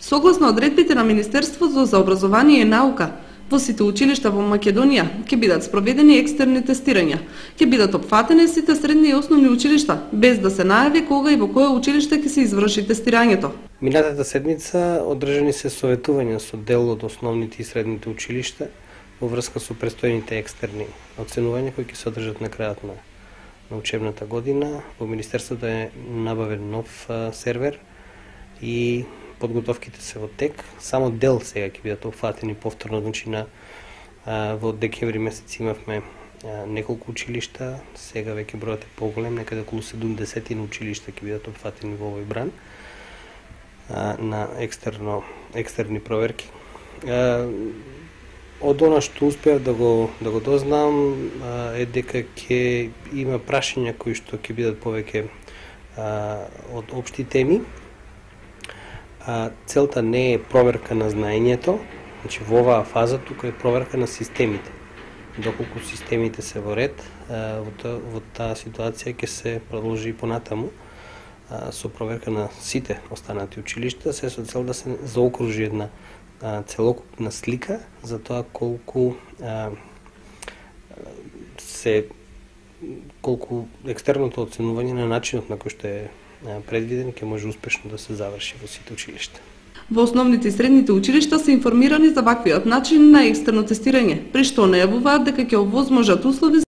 Согласно одредбите на Министерството за образование и наука, во сите училишта во Македонија ќе бидат спроведени екстерни тестирања. Ќе бидат опфатени сите средни и основни училишта, без да се најави кога и во кое училиште ќе се изврши тестирањето. Минатата седмица одржани се советувања со дел од основните и средните училишта во врска со престојните екстерни оценувања кои ќе се одржат на крајот на учебната година. Во Министерството е набавен нов сервер и подготовките се во тек. Само дел сега ќе бидат опфатени повторно, значи во декември месец имавме неколку училишта, сега веќе бројот е поголем, некаде околу 70 училишта ќе бидат опфатени во овој бран на екстерни проверки. Од она што успеав да го дознам е дека ќе има прашања кои што ќе бидат повеќе од општи теми. Целта не е проверка на знаењето, значи во оваа фаза тука е проверка на системите. Доколку системите се во ред, во таа ситуација ќе се продолжи и понатаму со проверка на сите останати училишта, се со цел да се заокружи една целокупна слика за тоа колку екстерното оценување на начинот на кој што е предвиден ќе може успешно да се заврши во сите училишта. Во основните и средните училишта се информирани за ваквиот начин на екстерно тестирање, при што најавуваат дека ќе овозможат услови